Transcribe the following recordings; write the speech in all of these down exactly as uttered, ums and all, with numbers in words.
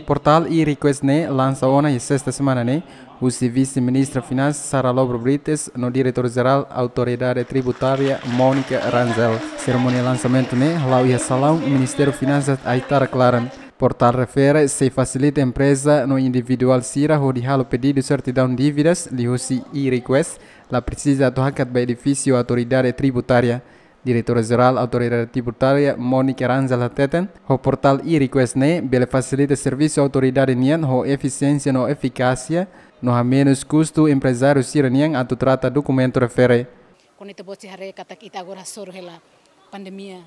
Portál e-request ne'e lansa ona iha sesta semana ne'e, husi Vise-Ministra Finansas Sara Lobo Brites no Diretora Jerál Autoridade Tributária Mónica Rangel. Serimónia lansamentu ne'e hala'o iha salaun Ministériu Finansas Aitarak laran. Portál refere sei fasilita empreza no individuál sira hodi halo pedidu sertidaun dívidas liuhusi e-request, la presiza atu hakat ba edifísiu Autoridade Tributária. Diretora Jerál Autoridade Tributária Mónica Rangel hateten, ho portál e-request ne'e bele fasilita servisu autoridade nian ho efisiénsia no efikásia, no hamenus kustu emprezáriu sira-nian atu trata dokumentu refere. Kuandu ita-boot sei haree katak ita agora hasoru hela pandemia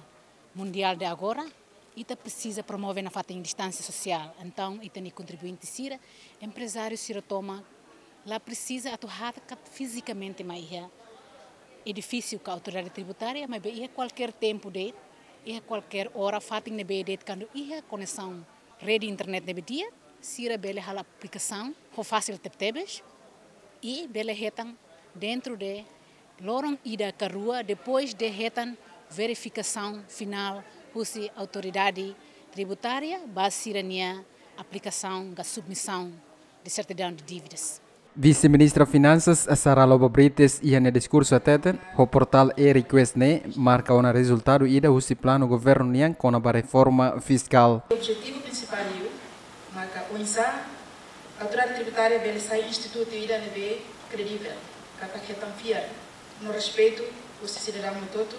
mundiál de agora, ita presiza promove nafatin distánsia sosiál. Entaun, ita-nia kontribuinte sira, emprezáriu sira tomak, la presiza atu hakat fizikamente mai iha edifísiu ka Autoridade Tributária, maibé iha kualkér tempu de'it, iha kualkér ora, fatin ne'ebé de'it, kuandu iha koneksaun rede internet ne'ebé di'ak, sira bele halo aplikasaun ho fasil tebetebes, i bele hetan dentru de loron ida ka rua, depois de hetan verifikasaun finál husi Autoridade Tributária ba sira-nia aplikasaun ka submisaun de sertidaun de dívidas. Vise-Ministra Finansas Sara Lobo Brites iha nia diskursu hateten, ho portál e-request ne'e marka ona rezultadu ida husi planu governu nian kona-ba reforma fiskál. Objetivu prinsipál liu maka oinsá Autoridade Tributária bele sai institutu ida ne'ebé kredivel, katak hetan fiar no respeitu husi sidadaun hotu-hotu,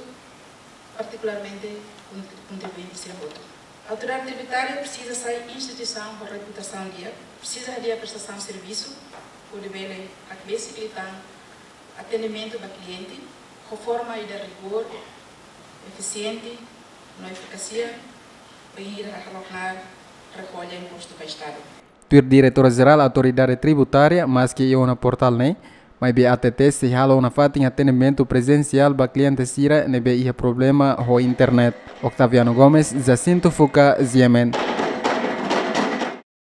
partikularmente kon-, kontribuinte sira hotu. Autoridade Tributária presiza sai instituisaun ho reputasaun di'ak, presiza hadi'a prestasaun servisu hodi bele hakbesik liután atendimentu ba kliente ho forma ida rigór, efisiente no efikásia, bainhira halo knaar rekolla impostu ba Estadu. Tuir Diretora Jerál Autoridade Tributária, maski iha ona portál ne'e, maibé A T T sei halo ona fatin atendimentu prezensiál ba kliente sira ne'ebé iha problema ho internet. Octaviano Gomes, Jacinto Fuca, G M N.